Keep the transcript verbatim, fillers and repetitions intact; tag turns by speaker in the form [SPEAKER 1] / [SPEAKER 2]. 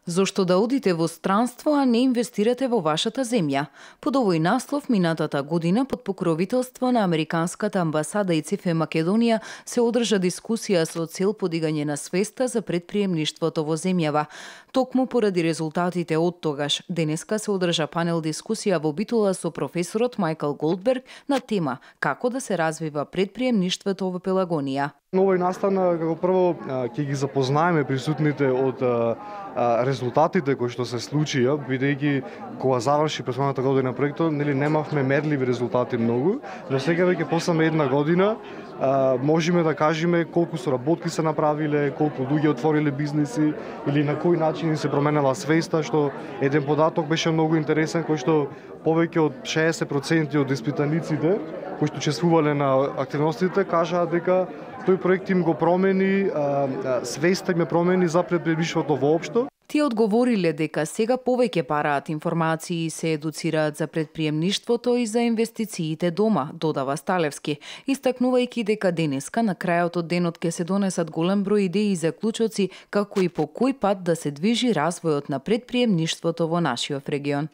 [SPEAKER 1] Зошто да одите во странство, а не инвестирате во вашата земја? Под овој наслов, минатата година, под покровителство на Американската амбасада и ЦИФЕ Македонија, се одржа дискусија со цел подигање на свеста за предприемништвото во земјава. Токму поради резултатите од тогаш, денеска се одржа панел дискусија во Битола со професорот Мајкл Голдберг на тема како да се развива предприемништвото во Пелагонија.
[SPEAKER 2] На овој настан, како прво, ќе ги запознаеме присутните од резултатите кои што се случија, бидејќи кога заврши претходната година проектот, нели немавме мерливи резултати многу, но сега веќе после една година можеме да кажеме колку соработки се направиле, колку луѓе отвориле бизниси или на кој начин се променела свеста, што еден податок беше многу интересен, кој што повеќе од шеесет проценти од испитаниците кои што учествувале на активностите кажаа дека тој проект им го промени, свеста им ја промени за предприемништвото воопшто.
[SPEAKER 1] Тие одговориле дека сега повеќе параат информации и се едуцираат за предприемништвото и за инвестициите дома, додава Сталевски, истакнувајќи дека денеска на крајот од денот ќе се донесат голем број идеи и заклучоци како и по кој пат да се движи развојот на предприемништвото во нашиот регион.